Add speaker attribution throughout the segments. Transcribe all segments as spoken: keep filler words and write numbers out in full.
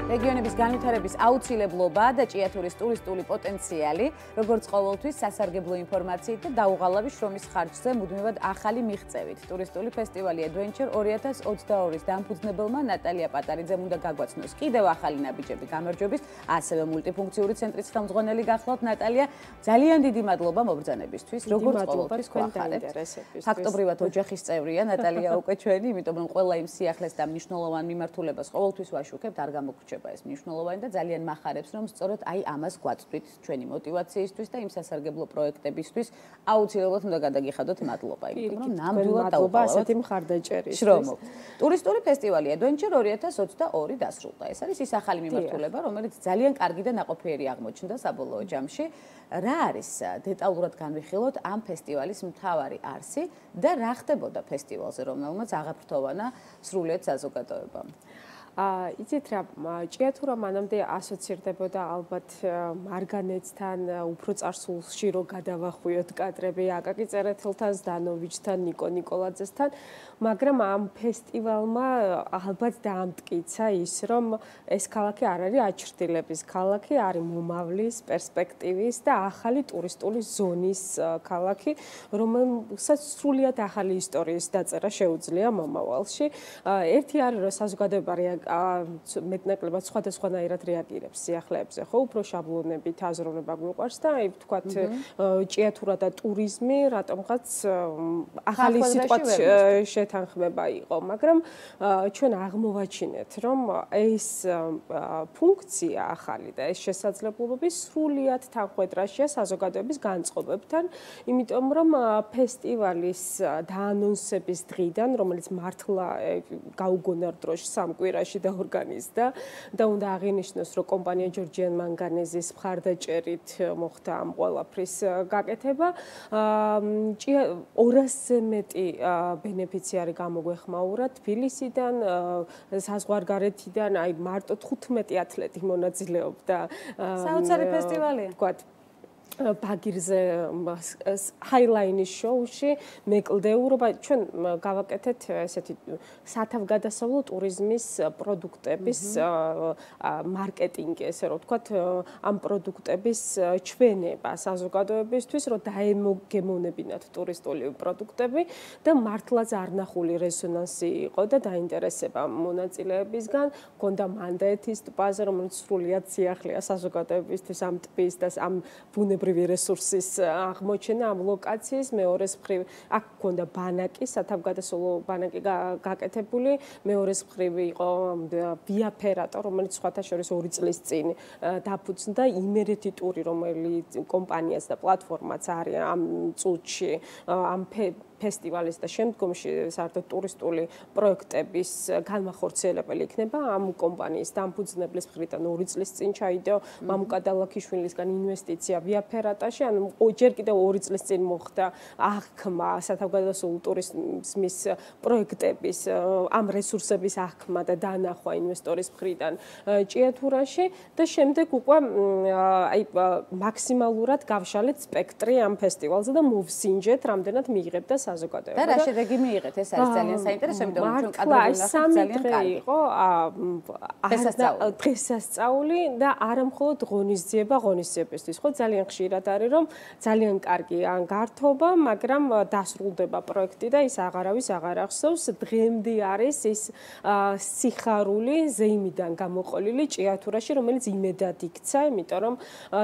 Speaker 1: რეგიონების განვითარების აუცილებლობა და ჭიათურის ტურისტული პოტენციალი, როგორც ყოველთვის სასარგებლო ინფორმაციით და დაუღალავი შრომის ხარჯზე მუდმივად ახალი მიღწევით. ტურისტული ფესტივალი Adventure ორი ათას ოცდაორის დამფუძნებელმა ნატალია პატარიძემ უნდა გაგვაცნოს კიდევ ახალი ნაბიჯები გამარჯვების, ასევე მულტიფუნქციური ცენტრის ხელმძღვანელი გახლავთ ნატალია. ძალიან დიდი მადლობა მობრძანებისთვის, როგორც ყოველთვის გვახარებთ. ფაქტობრივად ოჯახის წევრია ნატალია უკვე ჩვენი, იმიტომ რომ ყველა იმ სიახლეს და მნიშვნელოვან მიმართულებას ყოველთვის ვაშუქებთ, არ გამოგრჩება ეს მნიშვნელოვანი და ძალიან მახარებს, რომ სწორედ აი ამას გვაწვდით ჩვენი мотиваციისთვის და იმ სასარგებლო პროექტებისთვის აუცილებლად უნდა გადაგიხადოთ მადლობა, იმიტომ რომ ნამდვილად დაუყალავთ
Speaker 2: ასეთი მხარდაჭერის
Speaker 1: შრომობ. ტურისტული ფესტივალი Adventure ორი ათას ოცდაორი დასრულდა. ეს არის ის ახალი მიმართულება, რომელიც ძალიან კარგი და ნაყოფიერი აღმოჩნდა საბოლოო ჯამში. რა არის დეტალურად განვიხილოთ ამ ფესტივალის მთავარი არსი და რა ხდებოდა ფესტივალზე, რომელმაც აღაფრთოვანა სრულიად საზოგადოებამ?
Speaker 2: აა იცით რა, ჭიათურა მანამდე ასოცირდებოდა ალბათ მარგანეცთან, უფრო წარსულში რო გადავახვიოთ კადრები აკაკი წერეთელთან, ზდანოვიჩთან, ნიკო ნიკოლაძესთან, მაგრამ ამ ფესტივალმა ალბათ დაამტკიცა ის, რომ ეს ქალაქი არ არის აჩრდილების ქალაქი, არის მომავლის, პერსპექტივის და ახალი ტურისტული ზონის ქალაქი, რომელსაც სრულიად ახალი ისტორიის დაწერა შეუძლია მომავალში. ერთი არის რომ საზოგადოება მეტნაკლებად სხვადასხვანაირად რეაგირებს სიახლეებზე, ხო, უფრო შაბლონებით აზროვნება გვიყვარს და აი ვთქვათ ჭიათურა და ტურიზმი რატომღაც ახალი სიტყვაც შეთანხმება იყო, მაგრამ ჩვენ აღმოვაჩინეთ, რომ ეს ფუნქცია ახალი და ეს შესაძლებლობები სრულიად თანხვედრაშია საზოგადოების განწყობებთან, იმიტომ რომ ფესტივალის დაანონსების დღიდან, რომელიც მართლა გაუგონარ დროში სამ კვირაში დაორგანიზდა და უნდა აღინიშნოს, რომ კომპანია ჯორჯიან მანგანეზის მხარდაჭერით მოხდა ამ ყველაფრის გაკეთება. ორასზე მეტი ბენეფიციარი გამოგვეხმაურა თბილისიდან, საზღვარგარეთიდან, აი მარტო თხუთმეტი ათლეტი მონაწილეობდა.
Speaker 1: საოცარი ფესტივალია.
Speaker 2: ვთქვათ ბაგირზე ჰაილაინის შოუში მეკლდეურობა ჩვენ გავაკეთეთ ესეთი სათავგადასავლო ტურიზმის პროდუქტების მარკეტინგი, ესე რომ ვთქვათ, ამ პროდუქტების ჩვენება საზოგადოებისთვის, რომ დაემოგემოვნებინათ ტურისტული პროდუქტები და მართლა ზარნახული რეზონანსი იყო და დაინტერესება მონაწილეებისგან, გონდა მანდაეთის ტბაზე, რომელიც სრულიად სიახლეა საზოგადოებისთვის ამ ტბის და ამ ბუნებრივი რესურსის აღმოჩენა ამ ლოკაციის, მეორეს მხრივ აქ გქონდა ბანაკი, სათავგადასავლო ბანაკი გაკეთებული, მეორეს მხრივ იყო ვია ფერატო, რომელიც სხვათა შორის ორი წლის წინ დაფუძნდა, იმერეთი ტური, რომელიც კომპანიაც და პლატფორმაც არის ამ წუთში, ამ ფესტივალის და შემდგომში საერთოდ ტურისტული პროექტების განმახორციელებელი იქნება ამ კომპანიის დამფუძნებლის მხრიდან ორი წლის წინ ჩაიდო მამუკა დალაქიშვილისგან ინვესტიცია ვია ფერატაში, ანუ ჯერ კიდევ ორი წლის წინ მოხდა აღქმა სათავგადასავლო ტურიზმის პროექტების ამ რესურსების აღქმა და დანახვა ინვესტორის მხრიდან ჭიათურაში და შემდეგ უკვე აი მაქსიმალურად გავშალეთ სპექტრი ამ ფესტივალზე და მოვსინჯეთ რამდენად მიიღებდა საზოგადოება.
Speaker 1: და რა შედეგი მიიღეთ? ეს არის ძალიან საინტერესო, იმიტომ რომ ჩვენ კადრები ვნახავთ ძალიან კარგი.
Speaker 2: იყო დღესასწაული და არა მხოლოდ ღონისძიება ღონისძიებისთვის, ხო, ძალიან ხშირად არის რომ ძალიან კარგი ან გართობა, მაგრამ დასრულდება პროექტი და ის აღარავის აღარ ახსოვს. დღემდე არის ის სიხარული ზეიმიდან გამოყოლილი ჭიათურაში, რომელიც იმედად იქცა, იმიტომ რომ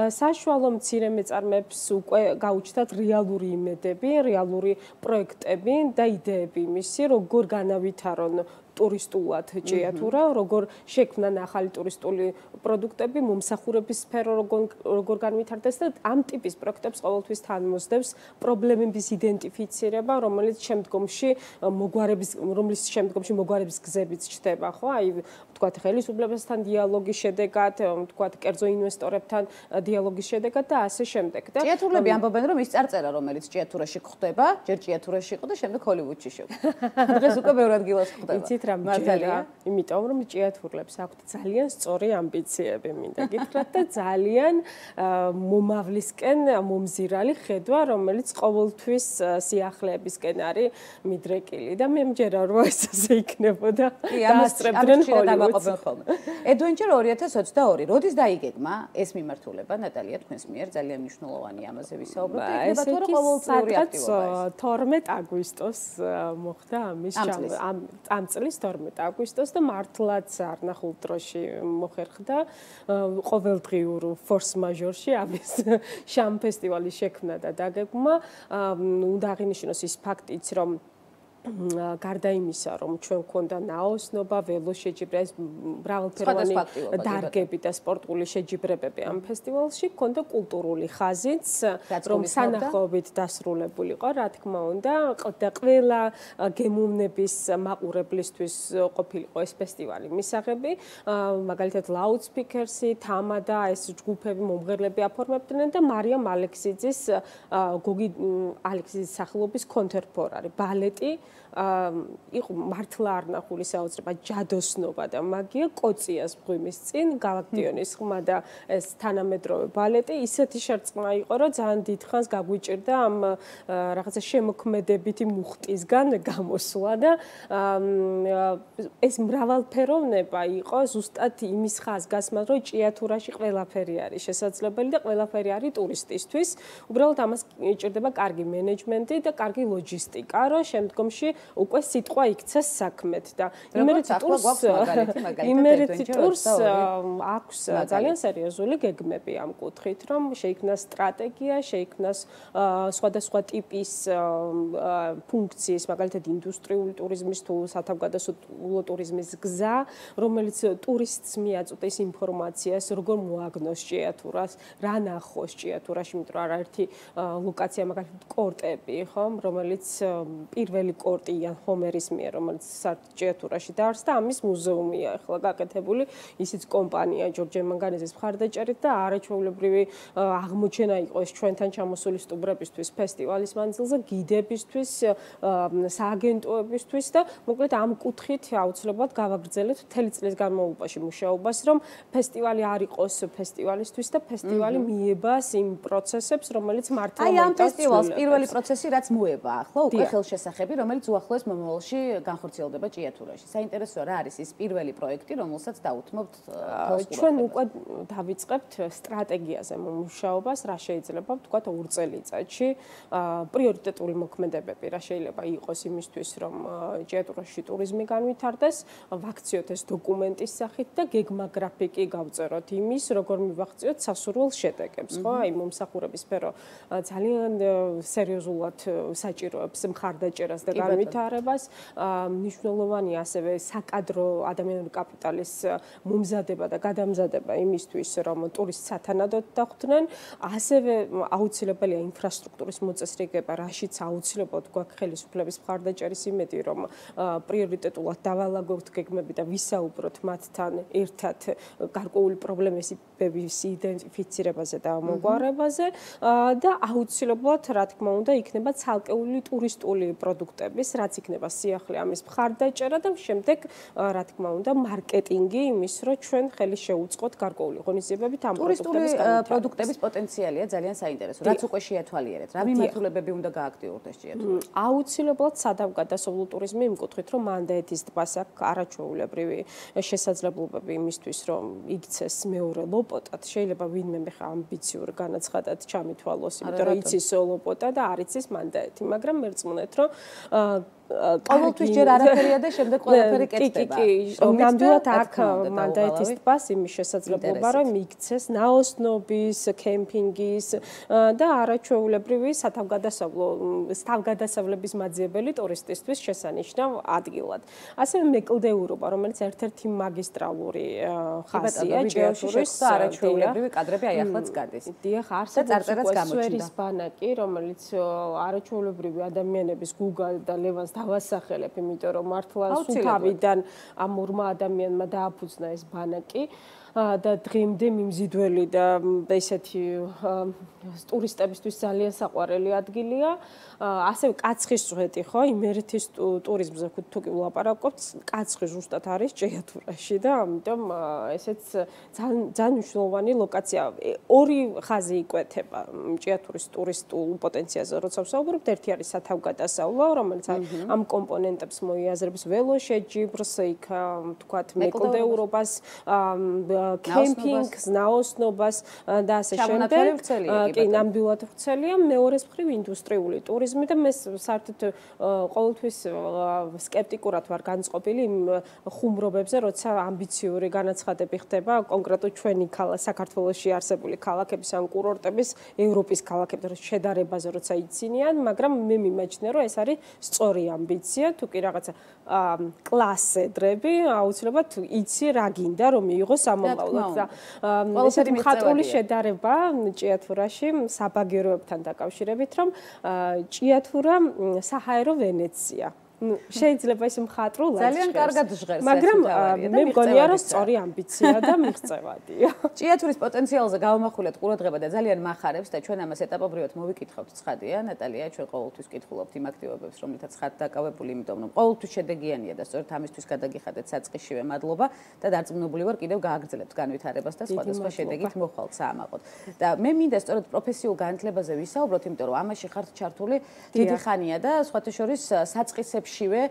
Speaker 2: საშუალო მცირე მეწარმეებს უკვე გაუჩნდათ რეალური იმედები, რეალური პროექტები და იდეები მისი, როგორ განავითარონ ტურისტულად ჭიათურა, როგორ შექმნან ახალი ტურისტული პროდუქტები, მომსახურების სფერო როგორ განვითარდეს და ამ ტიპის პროექტებს ყოველთვის თან მოსდევს პრობლემების იდენტიფიცირება, რომელიც შემდგომში მოგვარების, რომლის შემდგომში მოგვარების გზებიც ჩდება, ხო? აი, ვთქვათ, ხელისუფლებასთან დიალოგის შედეგად, ვთქვათ, კერძო ინვესტორებთან დიალოგის შედეგად და ასე შემდეგ. და
Speaker 1: ჭიათურლები ამბობენ, რომ ის წარწერა, რომელიც ჭიათურაში გვხდება, ჯერ ჭიათურაში იყო და შემდეგ ჰოლივუდში შეგვხდება. დღეს უკვე ბევრ ადგილას ხდება.
Speaker 2: იცით რა, მაგრამ ჯერა, იმიტომ რომ ჭიათურლებს აქვთ ძალიან სწორი ამბიციები, მინდა გითხრათ და ძალიან მომავლისკენ მომზირალი ხედვა, რომელიც ყოველთვის სიახლეებისკენ არის მიდრეკილი და მე მჯერა რომ ეს ასე იქნებოდა.
Speaker 1: დასწრებდნენ ხოლმე. Adventure ორი ათას ოცდაორი. როდის დაიგეგმა ეს მიმართულება, ნატალია, თქვენს მიერ ძალიან მნიშვნელოვანი ამაზე ვისაუბროთ. იქნება თუ არა ყოველწლიური აქტივობა.
Speaker 2: თორმეტ აგვისტოს მოხდა ამის ამ ამ წლის თორმეტ აგვისტოს და მართლაც არნახულ დროში მოხერხდა ყოველდღიურ force majeure-ში ამის შამ ფესტივალის შექმნა და დაგეგმა. უნდა აღინიშნოს ის ფაქტიც, რომ გარდა იმისა, რომ ჩვენ გვქონდა ნაოსნობა, ველოშეჯიბრება, მრავალფეროვანი დარგები და სპორტული შეჯიბრებები ამ ფესტივალში, გვქონდა კულტურული ხაზიც, რომ სანახაობით დასრულებული იყო, რა თქმა უნდა, და ყველა გემოვნების მაყურებლისთვის ყოფილიყო ეს ფესტივალი მისაღები, მაგალითად ლაუდსპიკერსი, თამადა, ეს ჯგუფები, მომღერლები აფორმებდნენ და მარიამ ალექსიძის გოგი ალექსიძის სახელობის კონტემპორარი ბალეტი იყო მართლა არნახული საოცრება ჯადოსნობა და მაგია კოციას მღვიმის წინ გალაქტიონის ხმა და ეს თანამედროვე ბალეტი ისეთი შერწყმა იყო რომ ძალიან დიდხანს გაგვიჭირდა ამ რაღაცა შემოქმედებითი მუხტისგან გამოსვლა და ეს მრავალფეროვნება იყო ზუსტად იმის ხაზგასმად რომ ჭიათურაში ყველაფერი არის შესაძლებელი და ყველაფერი არის ტურისტისთვის უბრალოდ ამას ჭირდება კარგი მენეჯმენტი და კარგი ლოჯისტიკა რომ შემდგომში უკვე სიტყვა იქცეს საქმეთ და იმერეთი ტურს იმერეთი ტურს აქვს ძალიან სერიოზული გეგმები ამ კუთხით რომ შეიქმნას სტრატეგია, შეიქმნას სხვადასხვა ტიპის ფუნქციის, მაგალითად ინდუსტრიული ტურიზმის თუ სათავგადასავლო ტურიზმის გზა, რომელიც ტურისტს მიაწვდის ინფორმაციას, როგორ მოაგნოს ჭიათურას, რა ნახოს ჭიათურაში, იმიტომ რომ არაერთი ლოკაცია, მაგალითად კორტები, ხო, რომელიც პირველი კორტი იან ჰომერის მიერ, რომელიც ჭიათურაში დაარსდა, ამის მუზეუმია ახლა გაკეთებული, ისიც კომპანია ჯორჯე მანგანეზის მხარდაჭერით და არაჩვეულებრივი აღმოჩენა იყო ეს ჩვენთან ჩამოსული სტუმრებისთვის ფესტივალის მანძილზე, გიდებისთვის, სააგენტოებისთვის და მოკლედ ამ კუთხით აუცილებლად გავაგრძელეთ მთელი წლის განმავლობაში მუშაობას, რომ ფესტივალი არ იყოს ფესტივალისთვის და ფესტივალი მიებას იმ პროცესებს, რომელიც მართლა
Speaker 1: აი ამ ფესტივალს პირველი პროცესი რაც მოება ახლა უკვე ხელშესახები, რომელიც უახლოეს მომავალში განხორციელდება ჭიათურაში. საინტერესოა რა არის ის პირველი პროექტი, რომელსაც დაუთმობთ თავს.
Speaker 2: ჩვენ უკვე დავიწყებთ სტრატეგიაზე მუშაობას, რა შეიძლება ვთქვათ ორ წელიწადში. პრიორიტეტული მოქმედებები რა შეიძლება იყოს იმისთვის, რომ ჭიათურაში ტურიზმი განვითარდეს, ვაქციოთ ეს დოკუმენტის სახით და გეგმა გრაფიკი გავწეროთ იმის, როგორ მივახციოთ სასურველ შედეგებს, ხო? აი მომსახურების სფერო ძალიან სერიოზულად საჭიროებს მხარდაჭერას და განვითარებას. მნიშვნელოვანია ასევე საკადრო ადამიანური კაპიტალის მომზადება და გადამზადება იმისთვის, რომ ტურისტს სათანადოდ დახვდნენ. ასევე აუცილებელია ინფრასტრუქტურის მოწესრიგება, რაშიც აუცილებლად გვაქვს ხელისუფლების მხარდაჭერის იმედი, რომ პრიორიტეტულად დავალაგოთ გეგმები და ვისაუბროთ მათთან ერთად გარკვეული პრობლემების იდენტიფიცირებაზე და მოგვარებაზე და აუცილებლად, რა თქმა უნდა, იქნება ცალკეული ტურისტული პროდუქტების, რაც იქნება სიახლე ამის მხარდაჭერა და შემდეგ, რა თქმა უნდა, მარკეტინგი იმის, რომ ჩვენ ხელი შეუწყოთ გარკვეული ღონისძიებებით ამ პროდუქტების
Speaker 1: ტურისტული პროდუქტების პოტენციალია ძალიან საინტერესო. რაც უკვე შეათვალიერეთ, რა მიმართულებები უნდა გააქტიურდეს ჭიათურაში?
Speaker 2: აუცილებლად სათავგადასავლო ტურიზმი იმ კუთხით, რომ მანდაეთის ტბას აქვს არაჩვეულებრივი შესაძლებლობები იმისთვის, რომ იქცეს მეორე ლოპოტად. შეიძლება ვინმე ხა ამბიციურ განაცხადად ჩამითვალოს, იმიტომ რომ იცის ლოპოტა და არ იცის მანდაეთი, მაგრამ მერწმუნეთ, რომ
Speaker 1: ყოველთვის ჯერ არაფერია და შემდეგ ყველაფერი კეთდება.
Speaker 2: კი, კი, ნამდვილად აქ მანდაეთის ტბას იმის შესაძლებლობა, რომ იქცეს ნაოსნობის, კემპინგის და არაჩვეულებრივი სათავგადასავლო თავგადასავლების მაძიებელი ტურისტისთვის შესანიშნავ ადგილად. ასევე მეკლდეურობა, რომელიც ერთ-ერთი მაგისტრალური ხაზია ჭიათურის
Speaker 1: და არაჩვეულებრივი კადრები აი ახლაც გადის.
Speaker 2: დიახ, არსებობს სვერის ბანაკი, რომელიც არაჩვეულებრივი ადამიანების გუგა და ლევანს დავასახელებ, იმიტომ რომ მართლა სუფავიდან ამ ორმა ადამიანმა დააფუძნა ეს ბანაკი და დღემდე მიმზიდველი და ესეთი ტურისტებისთვის ძალიან საყვარელი ადგილია. ასევე კაცხის წვეთი, ხო, იმერეთის ტურიზმზე თუ კი ვლაპარაკობთ, კაცხი ზუსტად არის ჭიათურაში და ამიტომ ესეც ძალიან მნიშვნელოვანი ლოკაცია. ორი ხაზი იკვეთება ჭიათურის ტურისტულ პოტენციალზე, როცა ვსაუბრობთ, ერთი არის სათავგადასავლო, რომელიც ამ კომპონენტებს მოიაზრებს ველოშეჯიბრს, იქ თქვათ მეკლდეურობას, კემპინგს, ნაოსნობას და ასე შემდეგ. კი, ნამდვილად ვრცელია. მეორეს მხრივ ინდუსტრიული ტურიზმი და მე საერთოდ ყოველთვის სკეპტიკურად ვარ განწყობილი იმ ხუმრობებზე, როცა ამბიციური განაცხადები ხდება კონკრეტულად ჩვენი საქართველოში არსებული ქალაქების ან კურორტების ევროპის ქალაქებთან შედარებაზე, როცა იცინიან, მაგრამ მე მიმაჩნია, რომ ეს არის სწორი ამბიცია, თუ კი რაღაცა კლასედრები, აუცილებლად იცი რა გინდა, რომ მიიღოს ამომავლად და ესეთი მხატვრული შედარება ჭიათურაში საბაგიროებთან დაკავშირებით, რომ ჭიათურა საჰაერო ვენეცია. შეიძლება ის მხატვრულად
Speaker 1: ძალიან კარგად ჟღერს,
Speaker 2: მაგრამ მე მგონია რომ სწორი ამბიცია და მიღწევადია.
Speaker 1: ჭიათურის პოტენციალზე გავამახვილეთ ყურადღება და ძალიან მახარებს და ჩვენ ამას ეტაპობრივად მოვიკითხავთ ცხადია, ნატალია, ჩვენ ყოველთვის კითხულობთ იმ აქტივობებს, რომლითაც ხართ დაკავებული, იმიტომ რომ ყოველთვის შედეგიანია და სწორედ ამისთვის გადაგიხადეთ საწყისშივე მადლობა და დარწმუნებული ვარ კიდევ გააგრძელებთ განვითარებას და სხვადასხვა შედეგით მოხვალთ საამაყოდ. და მე მინდა სწორედ პროფესიულ განათლებაზე ვისაუბროთ, იმიტომ რომ ამაში ხართ ჩართული დიდი ხანია და სხვათა შორის საწყისებში შივე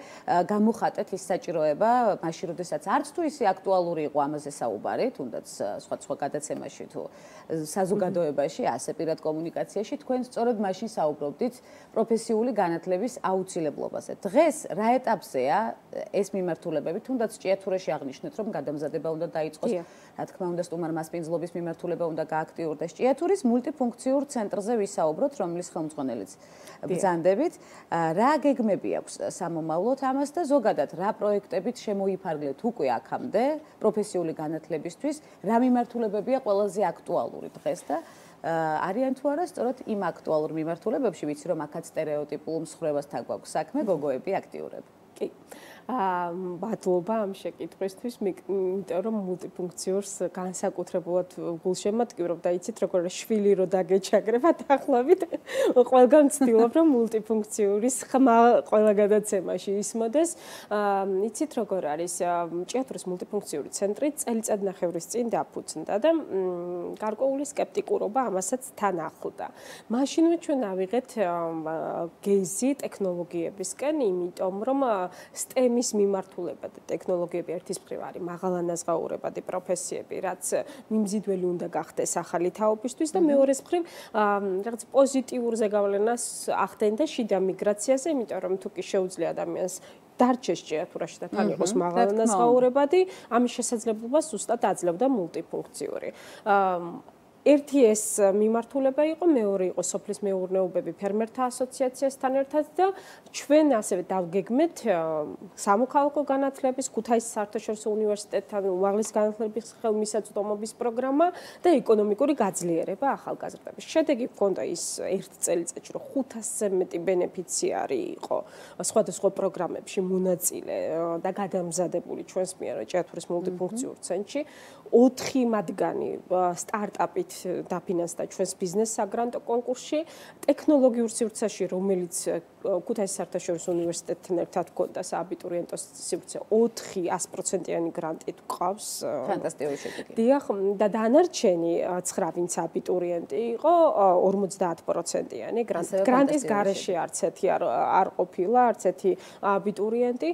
Speaker 1: გამოხატეთ ის საჭიროება, მაშინ როდესაც არც თუ ისე აქტუალური იყო ამაზე საუბარი, თუნდაც სხვა-სხვა გადაცემაში თუ საზოგადოებაში, ასე პირად კომუნიკაციაში, თქვენ სწორედ მაშინ საუბრობდით პროფესიული განათლების აუცილებლობაზე. დღეს რა ეტაპზეა ეს მიმართულებები, თუნდაც ჭიათურაში აღნიშნეთ, რომ გადამზადება უნდა დაიწყოს, რა თქმა უნდა, სტუმარ მასპინძლობის მიმართულება უნდა გააქტიურდეს. ჭიათურის მულტიფუნქციურ ცენტრზე ვისაუბროთ, რომლის ხელმძღვანელიც ბრძანდებით. რა გეგმები აქვს სამომავლოდ ამას და ზოგადად რა პროექტებით შემოიფარგლეთ უკვე აქამდე პროფესიული განათლებისთვის, რა მიმართულებებია ყველაზე აქტუალური დღეს და არიან თუ არა სწორედ იმ აქტუალურ მიმართულებებში, ვიცი რომ აქაც სტერეოტიპულ მსხვერპლთან გვაქვს საქმე, გოგოები აქტიურები.
Speaker 2: კი. აა მადლობა ამ შეკითხვისთვის, იმიტომ რომ მულტიფუნქციურს განსაკუთრებულად გულშემატკივრობ და იცით როგორ შვილი რო დაგეჩაგრება დაახლოებით ყველგან ვცდილობ რომ მულტიფუნქციური ხმა ყველა გადაცემაში ისმოდეს. აა იცით როგორ არის ჭიათურის მულტიფუნქციური ცენტრი წელიწადნახევრის წინ დაფუძნდა და გარკვეული სკეპტიკურობა ამასაც თან ახლდა. მაშინვე ჩვენ ავიღეთ გეიზი ტექნოლოგიებისკენ, იმიტომ რომ STEM ის მიმართულება და ტექნოლოგიები ერთის მხრივ არის მაღალანაზღაურებადი პროფესიები, რაც მიმზიდველი უნდა გახდეს ახალი თაობისთვის და მეორეს მხრივ რაღაც პოზიტიურ ზეგავლენას ახდენდა შიდა მიგრაციაზე, იმიტომ რომ თუ კი შეუძლია ადამიანს დარჩეს ჭიათურაში და თან იყოს მაღალანაზღაურებადი, ამის შესაძლებლობას ზუსტად აძლევდა მულტიფუნქციური. ერთი ეს მიმართულება იყო, მეორე იყო სოფლის მეურნეობები ფერმერთა ასოციაციასთან ერთად და ჩვენ ასევე დავგეგმეთ სამოქალაქო განათლების, ქუთაისის საერთაშორისო უნივერსიტეტთან უმაღლესი განათლების ხელმისაწვდომობის პროგრამა და ეკონომიკური გაძლიერება ახალგაზრდების. შედეგი ჰქონდა ის ერთ წელიწადში, რომ ხუთასზე მეტი ბენეფიციარი იყო სხვადასხვა პროგრამებში მონაწილე და გადამზადებული ჩვენს მიერ ჭიათურის მულტიფუნქციურ ცენტრში. ოთხი მათგანი სტარტაპით დაფინანსდა ჩვენს ბიზნეს საგრანტო კონკურსში, ტექნოლოგიურ სივრცეში, რომელიც ქუთაისის საერთაშორისო უნივერსიტეტთან ერთად ჰქონდა სააბიტურიენტო სივრცე, ოთხი ას პროცენტიანი გრანტით გვყავს.
Speaker 1: ფანტასტიკური შედეგი.
Speaker 2: დიახ, და დანარჩენი ცხრა ვინც აბიტურიენტი იყო, ორმოცდაათ პროცენტიანი გრანტი. გრანტის გარეშე არც ერთი არ ყოფილა, არც ერთი აბიტურიენტი.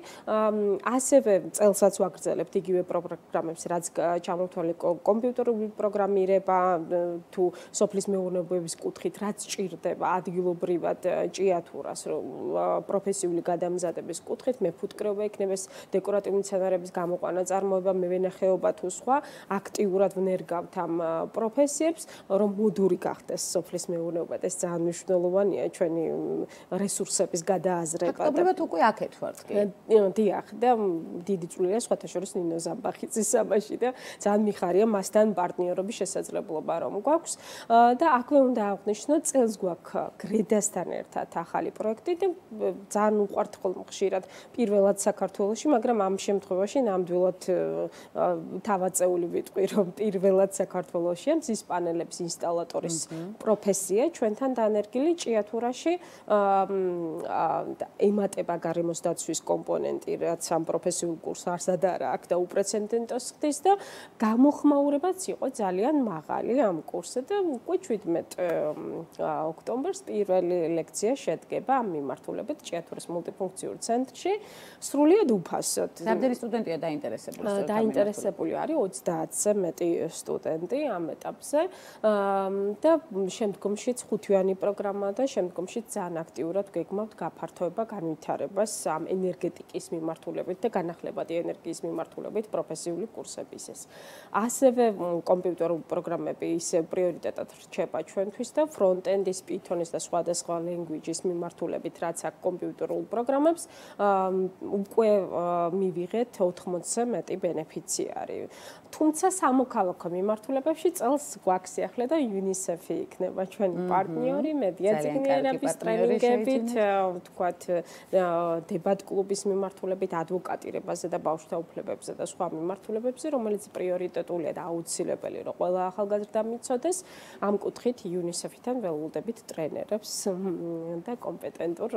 Speaker 2: ასევე წელსაც ვაგრძელებთ იგივე პროგრამებს, რაც ჩამოთვალე კომპიუტერული პროგრამირება, თუ სოფლის მეურნეობების კუთხით რაც ჭირდება ადგილობრივად ჭიათურას პროფესიული გადამზადების კუთხით, მეფუტკრეობა იქნება, დეკორატიული მცენარეების გამოყვანა, წარმოება, მევენახეობა თუ სხვა, აქტიურად ვნერგავთ ამ პროფესიებს, რომ მოდური გახდეს სოფლის მეურნეობა და ეს ძალიან მნიშვნელოვანია ჩვენი რესურსების გადააზრება.
Speaker 1: ფაქტობრივად უკვე აქეთ ვართ კი.
Speaker 2: დიახ, და დიდი წვლილია სხვათა შორის ნინო ზამბახიძის ამაში და ძალიან მიხარია მასთან პარტნიორობის შესაძლებლობა რომ გვაქვს და აქვე უნდა აღვნიშნოთ, წელს გვაქვს გრედასთან ერთად ახალი პროექტი, ვსწავლობდი და ძალიან უყვართ ხოლმე ხშირად პირველად საქართველოში, მაგრამ ამ შემთხვევაში ნამდვილად თავაწეული ვიტყვი, რომ პირველად საქართველოში მზის პანელების ინსტალატორის პროფესია ჩვენთან დანერგილი ჭიათურაში ემატება გარემოს დაცვის კომპონენტი, რაც ამ პროფესიულ კურსს არსად არა აქვს და უპრეცედენტოს ხდის და გამოხმაურებაც იყო ძალიან მაღალი ამ კურსზე და უკვე შვიდმეტ ოქტომბერს პირველი ლექცია შედგება ამ მიმართულებით ჭიათურის მულტიფუნქციურ ცენტრში სრულიად უფასოდ.
Speaker 1: რამდენი სტუდენტია დაინტერესებული?
Speaker 2: დაინტერესებული არის ოცდაათზე მეტი სტუდენტი ამ ეტაპზე და შემდგომშიც ხუთვიანი პროგრამა და შემდგომშიც ძალიან აქტიურად გეგმავთ გაფართოება, განვითარებას ამ ენერგეტიკის მიმართულებით და განახლებადი ენერგიის მიმართულებით პროფესიული კურსებისას. ასევე კომპიუტერული პროგრამები ისევ პრიორიტეტად რჩება ჩვენთვის და ფრონტენდის, პითონის და სხვადასხვა ლენგვიჯის მიმართულებით, რაც აქ კომპიუტერულ პროგრამებს უკვე მივიღეთ ოთხმოცზე მეტი ბენეფიციარი. თუმცა სამოქალაქო მიმართულებებში წელს გვაქვს ახლა და UNICEF-ი იქნება ჩვენი პარტნიორი მედიაცინიერების ტრენინგებით, ვთქვათ, დებატ კლუბის მიმართულებით, ადვოკატირებაზე და ბავშვთა უფლებებზე და სხვა მიმართულებებზე, რომელიც პრიორიტეტულია და აუცილებელი, რომ ყველა ახალგაზრდა მიცოდეს. ამ კუთხით UNICEF-თან ველოდებით ტრენერებს და კომპეტენტურ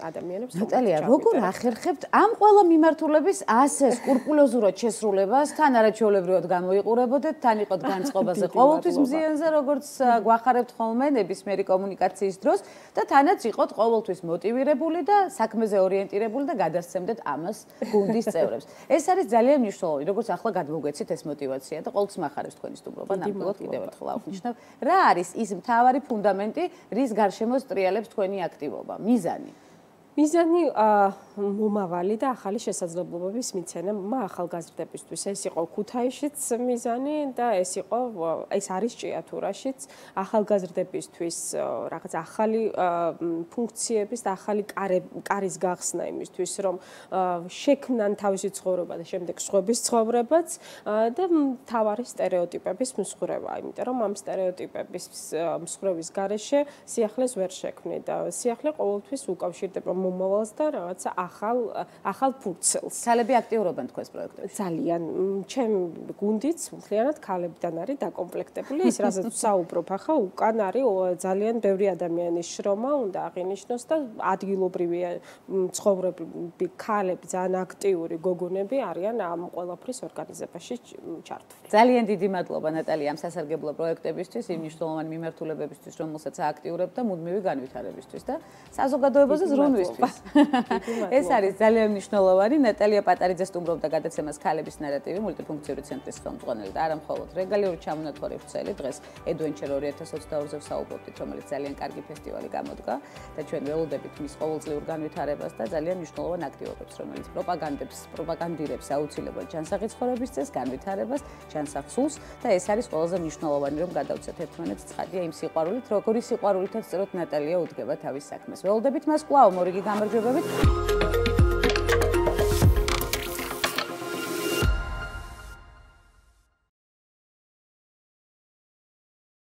Speaker 2: ადამიანებს.
Speaker 1: ნატალია, როგორ ახერხებთ ამ ყველა მიმართულების ასე სკრუპულოზურად შესრულებას, თან არაჩვეულებრივად გამოიყურებოდეთ, თან იყოთ განწყობაზე ყოველთვის მზიანზე, როგორც გვახარებთ ხოლმე ნებისმიერი კომუნიკაციის დროს და თანაც იყოთ ყოველთვის მოტივირებული და საქმეზე ორიენტირებული და გადასცემდეთ ამას გუნდის წევრებს. ეს არის ძალიან მნიშვნელოვანი, როგორც ახლა გადმოგვეცით ეს მოტივაცია და ყოველთვის მახარებს თქვენი სტუმრობა, ნამდვილად კიდევ ერთხელ აღვნიშნავ. რა არის ის მთავარი ფუნდამენტი, რის გარშემო სტრიალებს თქვენი აქტივობა, მიზანი?
Speaker 2: მიზანი მომავალი და ახალი შესაძლებლობების მიცემა ახალგაზრდებისთვის. ეს იყო ქუთაისშიც მიზანი და ეს იყო ეს არის ჭიათურაშიც ახალგაზრდებისთვის რაღაც ახალი ფუნქციების და ახალი კარის გახსნა იმისთვის, რომ შექმნან თავისი ცხოვრება და შემდეგ სხვების ცხოვრებაც და მთავარი სტერეოტიპების მსხვერპლობა, იმიტომ რომ ამ სტერეოტიპების მსხვერპლის გარეშე სიახლეს ვერ შექმნი და სიახლე ყოველთვის უკავშირდება მომავალს და რაღაცა ახალ ახალ ფურცელს.
Speaker 1: ქალები აქტიურობენ თქვენს პროექტებში?
Speaker 2: ძალიან. ჩემ გუნდიც მთლიანად ქალებიდან არის დაკომპლექტებული. ის რასაც საუბრობ ახლა, უკან არის ძალიან ბევრი ადამიანის შრომა, უნდა აღინიშნოს და ადგილობრივი ცხოვრები ქალები, ძალიან აქტიური გოგონები არიან ამ ყველაფრის ორგანიზებაში ჩართული.
Speaker 1: ძალიან დიდი მადლობა ნატალია ამ სასარგებლო პროექტებისთვის, იმ მნიშვნელოვანი მიმართულებებისთვის, რომელსაც აქტიურებთ და მუდმივი განვითარებისთვის და საზოგადოებაზე ზრუნვისთვის. ეს არის ძალიან მნიშვნელოვანი. ნატალია პატარიძე სტუმრობდა გადაცემას ქალების ნარატივი მულტიფუნქციური ცენტრის ხელმძღვანელი და არა მხოლოდ რეგულარული ჩამონათვარი ვრცელი დღეს Adventure ორი ათას ოცდაორზე ვსაუბრობთ, რომელიც ძალიან კარგი ფესტივალი გამოდგა და ჩვენ ველოდებით მის ყოველწლიურ განვითარებას და ძალიან მნიშვნელოვან აქტივობებს, რომელიც პროპაგანდებს, პროპაგანდირებს აუცილებლად ჯანსაღი ცხოვრების წესს, განვითარებას, ჯანსაღსულს და ეს არის ყველაზე მნიშვნელოვანი, რომ გადავცეთ ერთმანეთს ცხადია იმ სიყვარულით, როგორი სიყვარულითაც სწორედ ნატალია უდგება თავის საქმეს. ველოდებით მას კვლავ მორიგი გამარჯვებებით.